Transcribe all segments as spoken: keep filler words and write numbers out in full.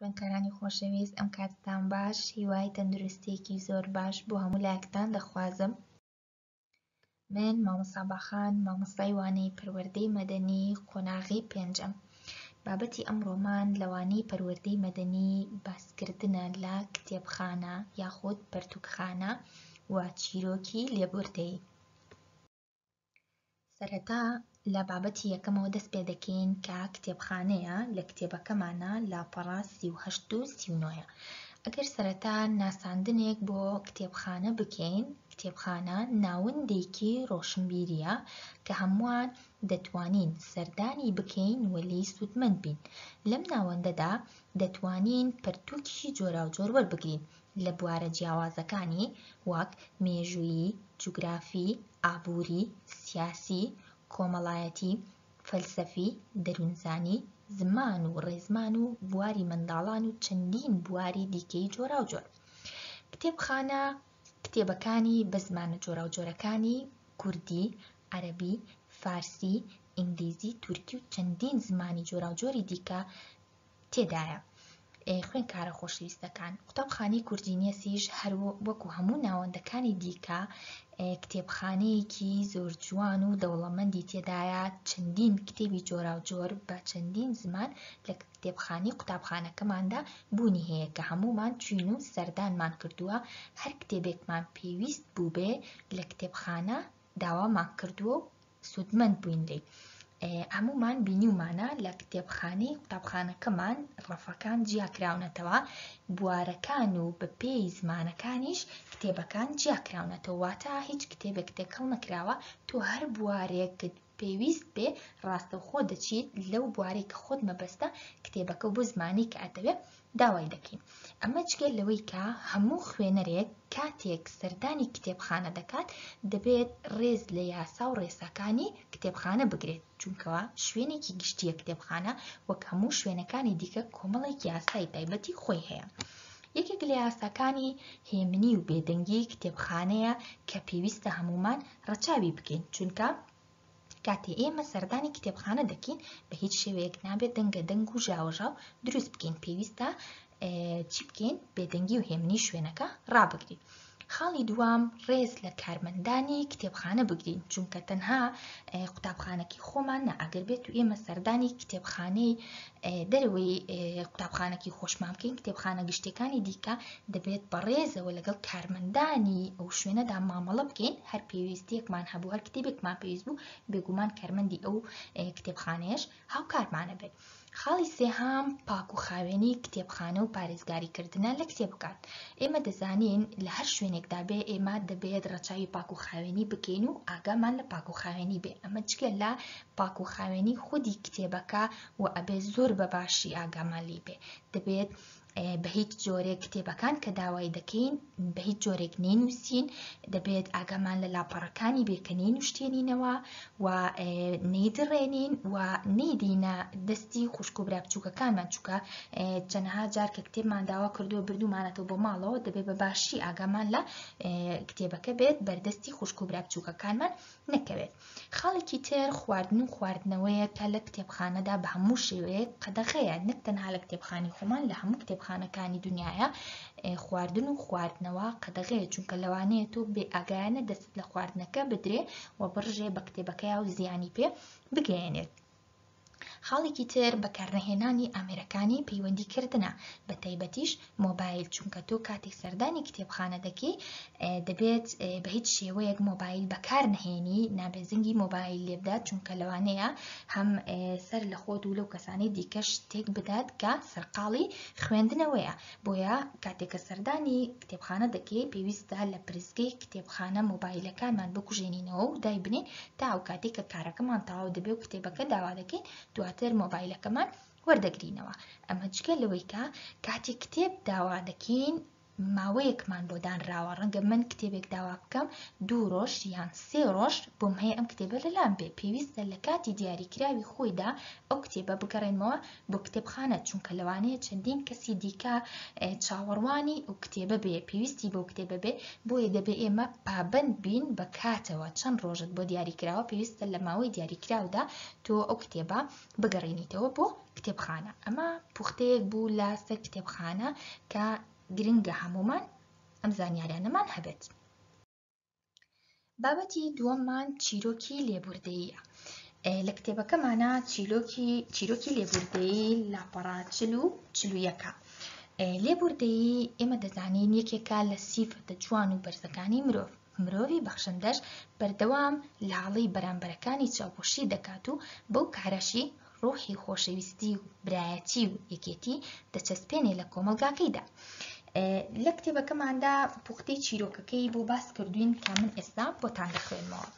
خوێندکارانی خۆشەویست، ئەم کاتتان باش. هیوای تەندروستیەکی زۆر باش بۆ هەموو لایەکتان دەخوازم. من مامۆستا باخان، مامۆستای وانەی پەروەردەی مەدەنی قۆناغی پێنجەم. بابەتی ئەمڕۆمان لە وانەی پەروەردەی مەدەنی باسکردنە لە کتێبخانە یاخود پەرتوکخانە و چیرۆکی لێبوردەیی. سەرەتا لە بابەتی یەکەمەوە دەست پێ دەکەین کە کتێبخانەیە. لە کتێبەکەمانە لاپەڕە سی و هەشت و سی و نۆیە. ئەگەر سەرەتا ناساندنێک بۆ کتێبخانە بکەین، کتێبخانە ناوەندێکی ڕۆشنبیریە کە هەمووان دەتوانین سەردانی بکەین و لێی سوودمەند بین. لەم ناوەندەدا دەتوانین پەرتوکی جۆراوجۆر وەربگرین لە بوارە جیاوازەکانی وەک مێژوویی، جوگرافی، ئابووری، سیاسی، کۆمەڵایەتی، فەلسەفی، دەروونزانی، زمان و ڕێزمان و بواری منداڵان و چەندین بواری دیکەی جۆراوجۆر. کتێبخانە کتێبەکانی بە زمانە جۆراوجۆرەکانی کوردی، عەرەبی، فارسی، ئینگلیزی، تورکی و چەندین زمانی جۆراوجۆری دیکە تێدایە. خوێندکارە خۆشەویستەکان، قوتابخانەی کوردینیەسیش هەر وەکو هەموو ناوەندەکانی دیکە کتێبخانەیەکی زۆر جوان و دەوڵەمەندی تێدایە. چەندین کتێبی جۆراوجۆر بە چەندین زمان لە کتێبخانەی قوتابخانەکەماندا بوونی هەیە کە هەموومان چوین و سەردانمان کردووە. هەر کتێبێکمان پێویست بوو بێ لە کتێبخانە داوامان کردووە و سوودمەند بووین لێی. هەموومان بینیومانە لە کتێبخانەی قوتابخانەکەمان ڕەفەکان جیاکراونەتەوە، بوارەکان و بەپێی زمانەکانیش کتێبەکان جیاکراونەتەوە، واتە هیچ کتێبێک تێکەڵ نەکراوە. تۆ هەر بوارێکت پێویست بێ ڕاستەوخۆ دەچیت لەو بوارەی کە خۆت مەبەستە کتێبەکە بۆ زمانی کە ئەتەوێ داوای دەکەین. ئەمە جگە لەوەی کە هەموو خوێنەرێک کاتێک سەردانی کتێبخانە دەکات دەبێت ڕێز لە یاسا و ڕێساکانی کتێبخانە بگرێت، چونکەوە شوێنێکی گشتیە کتێبخانە وەک هەموو شوێنەکانی دیکە کۆمەڵێک یاسای تایبەتی خۆی هەیە. یەکێک لە یاساکانی هێمنی و بێدەنگی کتێبخانەیە کە پێویستە هەمومان ڕەچاوی بکەین، چونکە کاتێ ئێمە سەردانی کتێبخانە دەکەین بە هیچ شێوەیەک نابێت دەنگە دەنگ و ژاوەژاو دروست بکەین. پێویستە چی بکەین؟ بێدەنگی و هێمنی شوێنەکە ڕابگرین. خاڵی دووەم، ڕێز لە کارمەندانی کتێبخانە بگرین، چونکە تەنها قوتابخانەکی خۆمان نا، ئەگەر بێت و ئێمە سەردانی کتێبخانەی دەرەوەی قوتابخانەکی خۆشمان بکەین، کتێبخانە گشتیەکانی دیکە، دەبێت بەڕێزەوە لەگەڵ کارمەندانی ئەو شوێنەدا مامەڵە بکەین. هەر پێویستیەکمان هەبوو، هەر کتێبێکمان پێویست بوو، بێگومان کارمەندی ئەو کتێبخانەیەش هاوکارمانە بێت. خاڵی سێهام، پاک و خاوێنی کتێبخانە و پارێزگاریکردنە لە کتێبەکان. ئێمە دەزانین لە هەر شوێنێکدا بێ ئێمە دەبێت ڕەچاوی پاک و خاوێنی بکەین و ئاگامان لە پاک و خاوێنی بێ. ئەمە جگە لە پاک و خاوێنی خودی کتێبەکە و ئەبێ زۆر بە باشی ئاگامان لێ بێ. دەبێت بە هیچ جۆرێک کتێبەکان کە داوای دەکەین بە هیچ جۆرێک نەینووسین، دەبێت ئاگامان لە لاپەڕەکانی بێ کە نەینوشتێنینەوە و نەیدڕێنین و نەیدینە دەستی خوشک و برا بچووکەکانمان، چونکە چەندەها جار کە کتێبمان داوا کردووە بردوومانەتەوە بۆ ماڵەوە، دەبێت بە باشی ئاگامان لە کتێبەکە بێت، بەردەستی خوشک و برا بچووکەکانمان نەکەوێت. خاڵێکی تر خواردن و خواردنەوەیە کە لە کتێبخانەدا بە هەموو شێوەیەک قەدەغەیە، نەک تەنها لە کتێبخانەی خۆمان، لە هەموو کتێبخانەکانی دنیاە خواردن و خواردنەوە قەدەغەیە، چونکە لەوانەیە تۆ بێ ئاگایانە دەست لە خواردنەکە بدرێ و بڕژێ بە کتێبەکەیا و زیانی پێ بگەیەنێت. خاڵێکی تر بەکارنەهێنانی ئامێرەکانی پەیوەندیکردنە، بە تایبەتیش مۆبایل، چونکە تۆ کاتێک سەردانی کتێبخانە دەکەی دەبێت بە هیچ شێوەیەک مۆبایل بەکار نەهێنی، نابێت زەنگی مۆبایل لێبدات، چونکە لەوانەیە هەم سەر لە خۆت و لەو کەسانەی دیکەش تێک بدات کە سەرقاڵی خوێندنەوەیە. بۆیە کاتێک کە سەردانی کتێبخانە دەکەی پێویستە لە پرسگەی کتێبخانە مۆبایلەکانمان بکوژێنینەوە و دایبنین تا ئەو کاتێک کە کارەکەمان تەواو دەبێت و کتێبەکە داوا دەکەین دواتر مۆبایلەکەمان وەردەگرینەوە. ئەمە جگە لەوەی کە کاتێک کتێب داوا دەکەین ماوەیەکمان بۆ دانراوە. ڕەنگە من کتێبێک داوا بکەم دوو ڕۆژ یان سێ ڕۆژ بۆم هەیە ئەم کتێبە لەلام بێ، پێویستە لە کاتی دیاریکراوی خۆیدا ئەو کتێبە بگەڕێنمەوە بۆ کتێبخانە، چونکە لەوانەیە چەندین کەسی دیکە چاوەڕوانی ئەو کتێبە بێ، پێویستی بەو کتێبە بێ. بۆیە دەبێ ئێمە پابەند بین بە کاتەوە، چەند ڕۆژت بۆ دیاریکراوە پێویستە لە ماوەی دیاریکراودا تۆ ئەو کتێبە بگەڕێنیتەوە بۆ کتێبخانە. ئەمە پوختەیەک بوو لەسەر کتێبخانە کە گرنگە هەمومان ئەم زانیاریانەمان هەبێت. بابەتی دووەممان چیرۆکی لێبوردەییە. لە کتێبەکەمانە چیرۆکی چیرۆکی لێبوردەیی لاپەڕە چل و چل و یەکە. لێبوردەیی ئێمە دەزانین یەکێکە لە سیفەتە جوان و بەرزەکانی مرۆڤ. مرۆڤی بەخشندەش بەردەوام لە هەڵەی بەرامبەرەکانی چاوپۆشی دەکات و بەو کارەشی ڕۆحی خۆشەویستی و برایەتی و یەکێتی دەچەسپێنێ لە کۆمەڵگاکەیدا. لە کتێبەکەماندا پوختەی چیرۆکەکەی بۆ باس کردوین کە من ئێستا بۆتان دەخوێنمەوە.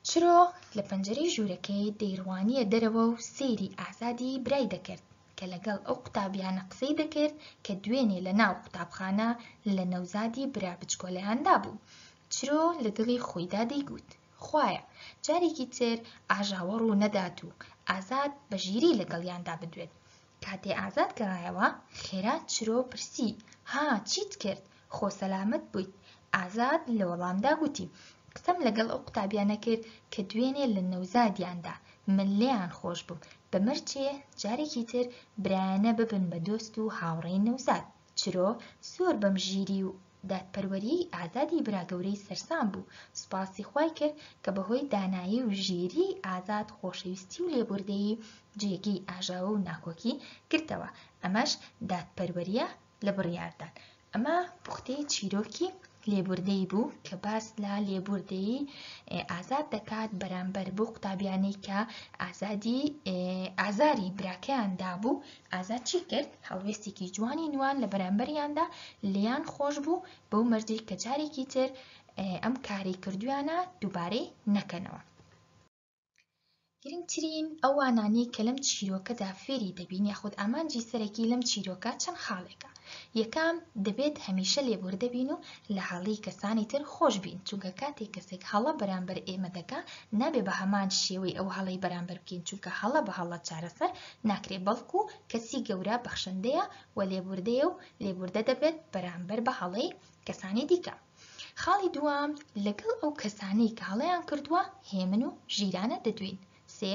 چرۆ لە پەنجەرەی ژوورەکەی دەیڕوانیە دەرەوە و سەیری ئازادی برای دەکرد کە لەگەڵ ئەو قوتابیانە قسەی دەکرد کە دوێنێ لە ناو قوتابخانە لە نەوزادی برا بچکۆلەیاندا بوو. چرۆ لە دڵی خۆیدا دەیگوت خوایە جارێکی تر ئاژاوە ڕوو نەدات و ئازاد بە ژیری لەگەڵیاندا بدوێت. کاتێ ئازاد گەڕایەوە خێرا چرۆ پرسی ها چیت کرد؟ خۆ سەلامەت بوویت؟ ئازاد لە وەڵامدا گوتی قسەم لەگەڵ ئەو قوتابیانە کرد کە دوێنێ لە نەوزادیاندا من لێیان خۆش بووم، بە مەرجێ جارێکی تر برایانە ببن بە دۆست و هاوڕێی نەوزاد. چرۆ زۆر بەم ژیری و دادپەروەریی ئازادی برا گەورەی سەرسام بوو. سوپاسی خوای کرد کە بەهۆی دانایی و ژیری ئازاد خۆشەویستی و لێبوردەیی جێگەی ئاژاوە و ناکۆکی گرتەوە. ئەمەش دادپەروەریە لە بڕیاردان. ئەمە پوختەی چیرۆکی لێبوردەیی بوو کە باس لە لێبوردەیی ئازاد دەکات بەرامبەر بۆ قوتابیانەی کە ئازادی ئازاری براکەیان دابوو. ئازاد چی کرد؟ هەڵوێستێکی جوانی نوان لە بەرامبەریاندا لێیان خۆش بوو بەو مەرجەی کە جارێکی تر ئەم کارەی کردویانە دووبارەی نەکەنەوە. گرنگترین ئەوانانەی کە لەم چیرۆکەدا فێری دەبین یاخود ئامانجی سەرەکی لەم چیرۆکە چەند خاڵێکە. یەکەم، دەبێت هەمیشە لێبوردە بین و لە هەڵەی کەسانی تر خۆش بین، چونکە کاتێک کەسێک هەڵە بەرامبەر ئێمە دەکا نابێ بە هەمان شێوەی ئەو هەڵەی بەرامبەر بکەین، چونکە هەڵە بە هەڵە چارەسەر ناکرێت، بەڵکو کەسی گەورە بەخشندەیە و لێبوردەیە و لێبوردە دەبێت بەرامبەر بە هەڵەی کەسانی دیکە. خاڵی دووەم، لەگەڵ ئەو کەسانەی کە هەڵەیان کردووە هێمن و ژیرانە دەدوین. سێ،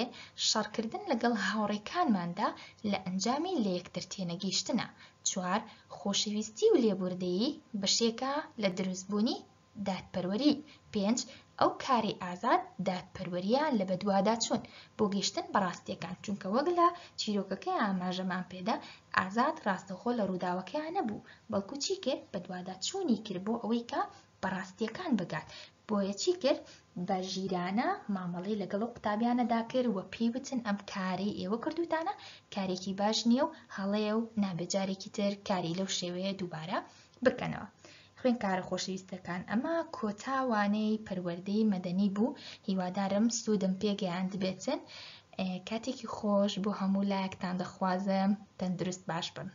شەڕکردن لەگەڵ هاوڕێکانماندا لە ئەنجامی لە یەکتر تێنەگەیشتنە. چوار، خۆشەویستی و لێبوردەیی بەشێکە لە دروستبوونی دادپەروەری. پێنج، ئەو کارەی ئازاد دادپەروەریە لە بەدوادا چوون بۆ گەیشتن بە ڕاستیەکان، چونکە وەک لە چیرۆکەکەی ئاماژەمان پێدا ئازاد ڕاستەوخۆ لە ڕووداوەکەیان نەبوو، بەڵکو چی کرد؟ بەدوادا چوونی کرد بۆ ئەوەی کە بە ڕاستیەکان بگات. بۆیە چی کرد؟ بە ژیرانە مامەڵەی لەگەڵ ئەو قوتابیانەدا کرد و پێی وتن ئەم کارەی ئێوە کردوتانە کارێکی باش نییە و هەڵەیە و نابێ جارێکی تر کاری لەو شێوەیە دووبارە بکەنەوە. خوێندکارە خۆشەویستەکان، ئەمە کۆتا وانەی پەروەردەی مەدەنی بوو. هیوادارم سوودم پێگەیاندبێتن. کاتێکی خۆش بۆ هەموو لایەکتان دەخوازم. تەندروست باش بن.